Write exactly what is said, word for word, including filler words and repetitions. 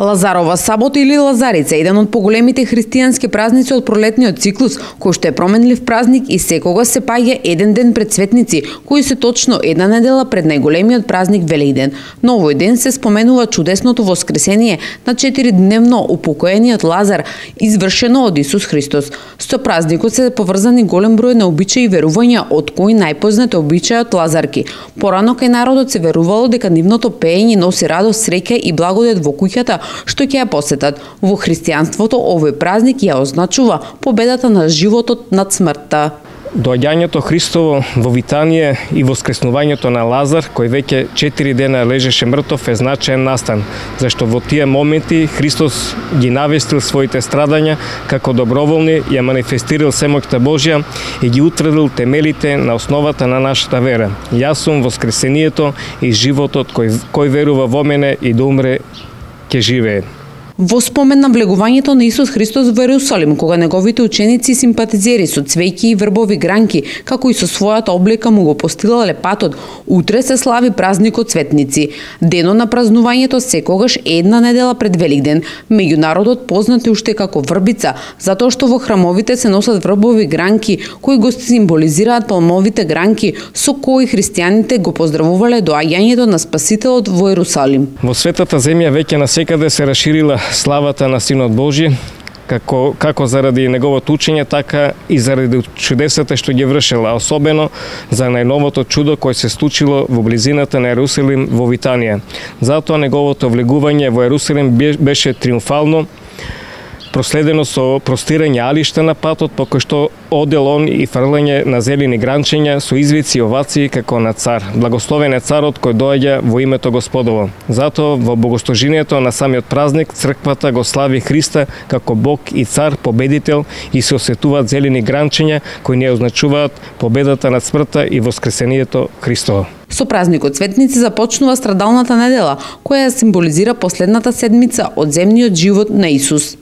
Лазарова сабота или Лазарица е еден од поголемите христијански празници од пролетниот циклус, кој што е променлив празник и секогаш се паѓа еден ден пред светници, кои се точно една недела пред најголемиот празник Велигден. На овој ден се споменува чудесното воскресение на четиридневно упокоениот Лазар, извршено од Исус Христос. Со празникот се поврзани голем број на обичаи и верувања, од кои најпознат е обичајот Лазарки. Порано кај народот се верувало дека нивното пеење носи радост, среќа и благодет во куќата што ќе ја посетат. Во христијанството овој празник ја означува победата на животот над смртта. Доаѓањето Христово во Витанија и воскреснувањето на Лазар, кој веќе четири дена лежеше мртов, е значаен настан, зашто во тие моменти Христос ги навестил своите страдања како доброволни, ја манифестирал семоќта Божја и ги утврдил темелите на основата на нашата вера. Јас сум воскресението и животот, кој, кој верува во мене и да умре ќе живее. Во спомен на влегувањето на Исус Христос во Ерусалим, кога неговите ученици и симпатизери со цвеќи и врбови гранки, како и со својата облека му го постилале патот, утре се слави празникот Светници. Денот на празнувањето секогаш е една недела пред Велигден, меѓу народот познати уште како врбица, затоа што во храмовите се носат врбови гранки, кои го символизираат палмовите гранки со кои христијаните го поздравувале доаѓањето на Спасителот во Ерусалим. Во светата земја веќе насекаде се расширила славата на Синот Божи, како, како заради неговото учење, така и заради чудесата што ги вршил, а особено за најновото чудо кој се случило во близината на Ерусалим во Витанија. Затоа неговото влегување во Ерусалим беше триумфално, проследено со простирање алишта на патот, по кој што одел он и фрлање на зелени гранчења со извици и овации како на цар. Благословен е царот кој доаѓа во името Господово. Затоа во богослужението на самиот празник црквата го слави Христа како Бог и цар, победител, и се осетуваат зелени гранчења кои не означуваат победата над смртта и воскресението Христово. Со празникот Светници започнува страдалната недела, која символизира последната седмица од земниот живот на Исус.